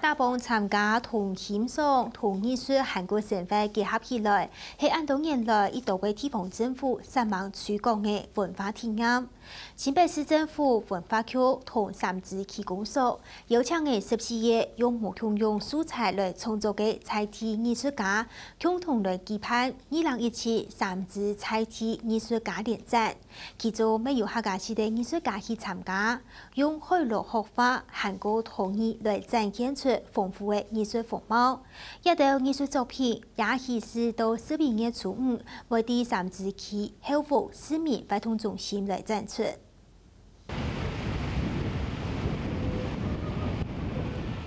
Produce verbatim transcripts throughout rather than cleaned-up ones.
打幫參加同欣賞、同藝術還過生活結合起來，係恁多年來已多个地方政府煞猛推廣个文化體驗。新北市政府文化局同三芝區公所邀請个十四位用無共樣素材來創作个在地藝術家，共同來舉辦二零一七三芝在地藝術家聯展。 其中乜有客家籍个藝術家去參加，用海陸學法還過陶藝來展現出豐富个藝術風貌。這兜藝術作品也係到十一月初五，會在三芝區後屋市民活動中心來展出。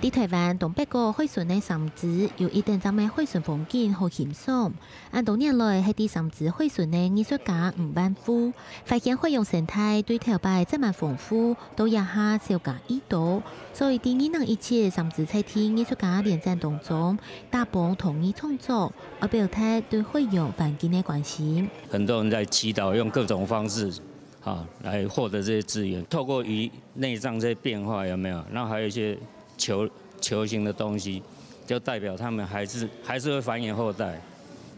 在臺灣東北角海脣个三芝，有一等讚个海脣風景好欣賞。恁多年來，係在三芝海脣个藝術家吳萬富，發現海洋生態對頭擺載滿豐富，到這下少加已多。所以，在二零一七三芝在地藝術家聯展當中，打幫陶藝創作，愛表達對海洋環境个關心。很多人在祈禱，用各種方式 啊，來獲得這些資源。透過魚內臟這些變化，有沒有？那還有一些球，球形的東西，就代表牠們還是，還是會繁衍後代，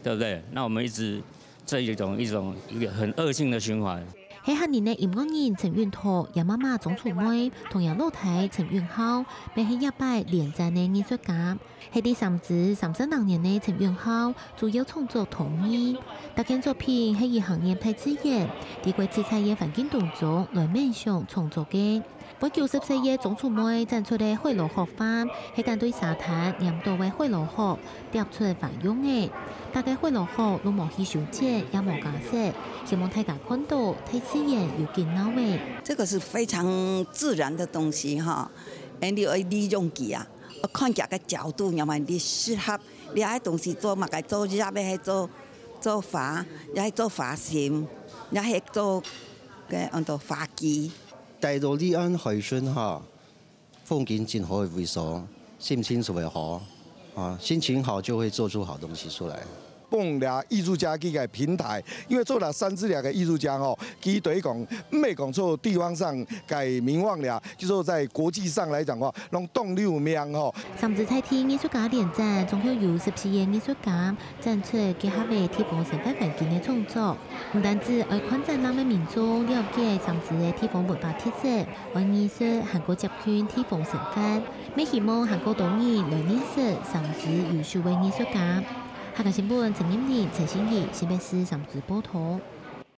對不對？那我們一直這一種，一種，一個很惡性的循環。係客人个音樂人陳允拓，厥媽媽張楚妹，同厥老弟陳允浩，乜係這擺聯展个藝術家。 係在三芝三十零年个陳允浩，主要創作陶藝。大件作品係以行入大自然，在過自在个環境當中來冥想創作个。八九十歲个張楚妹展出个海螺殼花，係敢對沙灘拈著个海螺殼，疊出花樣个。逐个海螺殼都無去修剪，也無加色，希望大家看著大自然有幾鬧个。這個是非常自然的東西哈，恁樣愛利用佢啊。 看佢个角度，然後你適合，你愛東西做麼个，做葉个，還做，做花，也係做花心，也係做个安到花枝。戴到離岸海脣哈，風景真好个位所，心情就會好，啊，心情好就會做出好東西出來。 幫這藝術家佢个平台，因為做這三芝這个藝術家吼，佢對於講，毋係講做地方上个名望了，就說在國際上來講吼，攏當有名吼。三芝在地藝術家聯展，總共有十四个藝術家展出結合个地方生活環境个創作。毋單止愛看展覽个民眾了解三芝个地方文化特色，愛藝術還過接近地方生活，乜希望還過多人來認識三芝優秀个藝術家。 客家新聞陳金玲、陳心怡，新北市三芝報導。